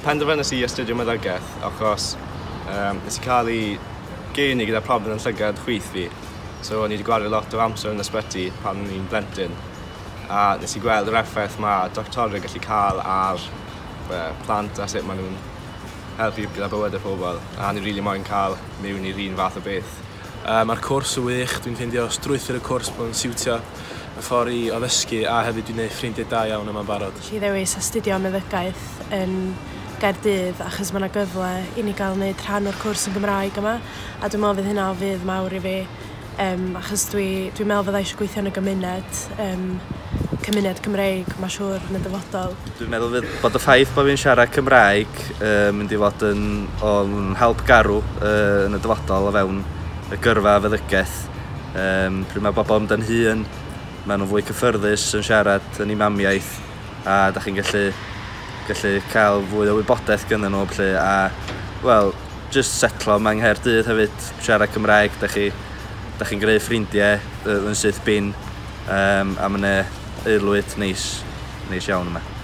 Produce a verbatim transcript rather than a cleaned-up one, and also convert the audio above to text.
Penderfynais i astudio meddygaeth achos um, nes i cael ei geni gyda problem yn llygad chwith fi. So o'n i wedi gwario lot o amser yn ysbyty pan o'n i'n blentyn. A nes i gweld yr effaith mae doctoriaid gallu cael ar uh, plant a sut maen nhw'n helpu gyda bywydau pobl. A ni rili really moyn cael mewn i'r un fath o beth. Uh, Mae'r cwrs yn wych, dwi'n ffeindio strwythur y cwrs bod yn siwtio y ffordd i o ddysgu a hefyd dwi'n gwneud ffrindiau da iawn yma'n barod. Nes i ddewis astudio meddygaeth yn Gaerdydd achos mae yna gyfle i ni gael wneud rhan o'r cwrs yn Gymraeg yma, a dwi'n meddwl fydd hynna o fudd mawr i fi, um, achos dwi, dwi'n meddwl fydda eisiau gweithio yn y gymuned, um, cymuned Cymreig, mae'n siŵr, yn y dyfodol. Dwi'n meddwl fydd bod y ffaith bod fi'n siarad Cymraeg uh, mynd i fod yn, o'n help garw uh, yn y dyfodol o fewn y gyrfa feddygaeth. Um, pryd mae bobl yn hŷn, maen nhw'n fwy cyffyrddus yn siarad yn eu mamiaith a da chi'n gallu, gallu cael fwy o wybodaeth gyda nhw felly, a wel, just setlo yma yng Nghaerdydd hefyd, siarad Cymraeg, da chi, da chi'n greu ffrindiau yn syth bin, um, a mae'n aelwyd neis, neis iawn yma.